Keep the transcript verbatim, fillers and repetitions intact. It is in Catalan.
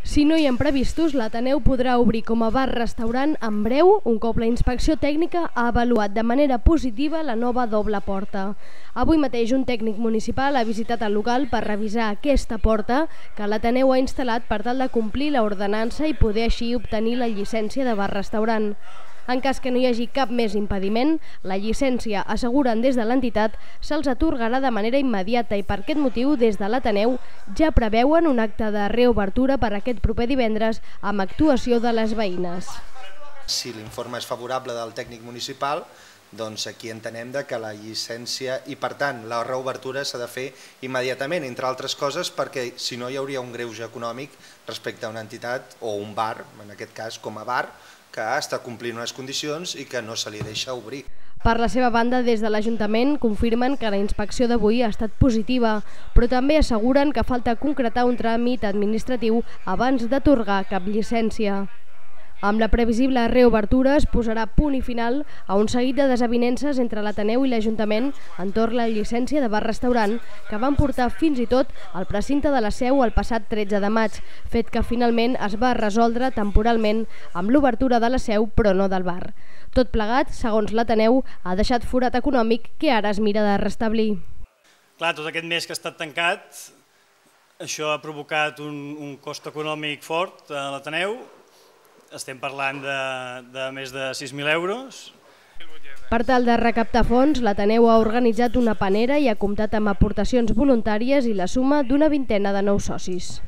Si no hi ha imprevistos, l'Ateneu podrà obrir com a bar-restaurant en breu, un cop la inspecció tècnica ha avaluat de manera positiva la nova doble porta. Avui mateix un tècnic municipal ha visitat el local per revisar aquesta porta que l'Ateneu ha instal·lat per tal de complir l'ordenança i poder així obtenir la llicència de bar-restaurant. En cas que no hi hagi cap més impediment, la llicència, asseguren des de l'entitat, se'ls atorgarà de manera immediata i per aquest motiu, des de l'Ateneu, ja preveuen un acte de reobertura per aquest proper divendres amb actuació de les veïnes. Si l'informe és favorable del tècnic municipal, doncs aquí entenem que la llicència i per tant la reobertura s'ha de fer immediatament, entre altres coses perquè si no hi hauria un greuge econòmic respecte a una entitat o un bar, en aquest cas com a bar, que està complint unes condicions i que no se li deixa obrir. Per la seva banda, des de l'Ajuntament confirmen que la inspecció d'avui ha estat positiva, però també asseguren que falta concretar un tràmit administratiu abans d'atorgar cap llicència. Amb la previsible reobertura es posarà punt i final a un seguit de desavinences entre l'Ateneu i l'Ajuntament entorn la llicència de bar-restaurant que van portar fins i tot al precinte de la Seu el passat tretze de maig, fet que finalment es va resoldre temporalment amb l'obertura de la Seu però no del bar. Tot plegat, segons l'Ateneu, ha deixat forat econòmic que ara es mira de restablir. Clar, tot aquest mes que ha estat tancat, això ha provocat un, un cost econòmic fort a l'Ateneu. Estem parlant de, de més de sis mil euros. Per tal de recaptar fons, l'Ateneu ha organitzat una panera i ha comptat amb aportacions voluntàries i la suma d'una vintena de nous socis.